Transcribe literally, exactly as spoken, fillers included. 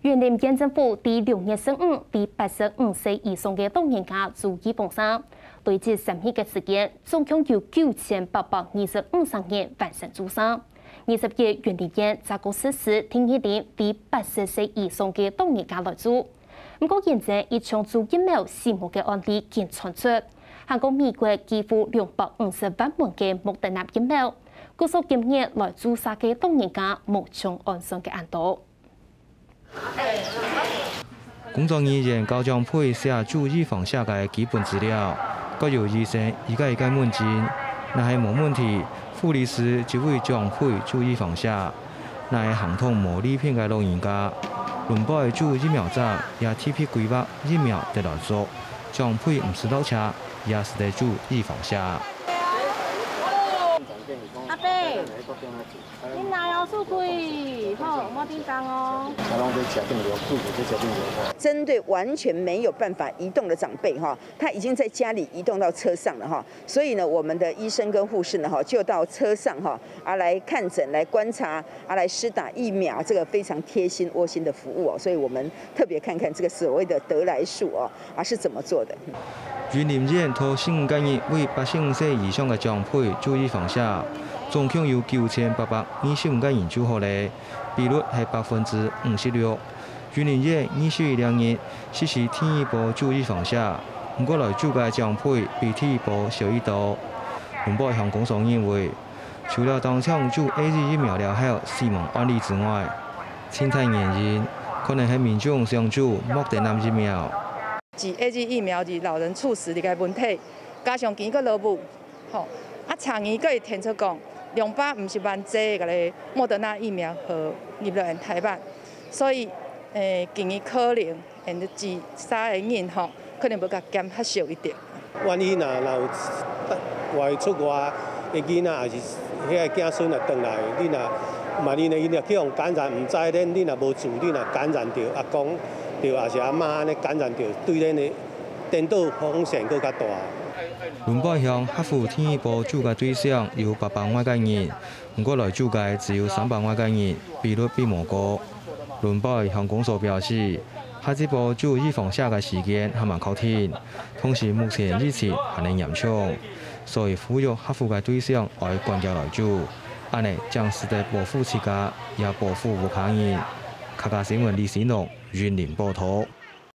雲林縣政府在六月十五為八十五歲以上个老人家注預防射，累積三日个時間，總共有九千八百二十五人完成注射。二十一雲林縣再過實施第二輪為八十歲以上个老人家來注。毋過，現在一場注疫苗死亡个案例緊傳出，還過美國寄付兩百五十萬門个莫德納疫苗，故所今日來注射个老人家無像按算个恁多。 工作人員教長輩寫注預防射个基本資料，各由醫生一個一個問診。若係無問題，護理師就為長輩注預防射。若係行動無利便个老人家，輪班注疫苗站也特別規劃疫苗得來做，長輩毋使落車，也使得注預防射。阿伯， 你來哦，速開，好，莫叮噹哦。啊，攏在車頂了，坐佇這車頂了。針對完全沒有辦法移動的長輩哈，他已經在家裡移動到車上了哈，所以呢，我們的醫生跟護士呢哈，就到車上哈，啊，來看診、來觀察、啊，來施打疫苗，這個非常貼心、窩心的服務哦。所以我們特別看看這個所謂的得來速哦，啊，是怎麼做的。雲林縣頭十五個日為八十五歲以上个長輩注預防射， 總共有九千八百二十五個人注好咧，比率係百分之五十六。雲林縣二十一日實施第二波注預防射，毋過來注个長輩比第一波少已多。雲北鄉公所認為，除了當場注A Z疫苗了後死亡案例之外，盡大原因可能係民眾想注莫德納疫苗。注A Z疫苗是老人猝死个問題，加上今个落雨， 吼，啊，昨日閣會傳出講，兩百五十萬劑个咧莫德納疫苗好入來台灣，所以，誒，今日可能，誒，注射个人吼，可能會較減較少一點。萬一若，若有外出外个囡仔，抑是遐个囝孫若轉來，你若萬一呢，𪜶若去予感染，毋知咧，你若無注，你若感染著，啊，講著，抑是阿媽按呢感染著，對咱的 顛倒風險閣較大。雲北鄉合乎第二波注个對象有八百外個人，毋過來注个只有三百外個人，比率並無高。雲北鄉公所表示，下一波注預防射个時間還吂確定，同時目前疫情還係嚴重，所以呼籲合乎个對象愛趕緊來注，按呢正使得保護自家，也保護屋下人。客家新聞李新龍，雲林報導。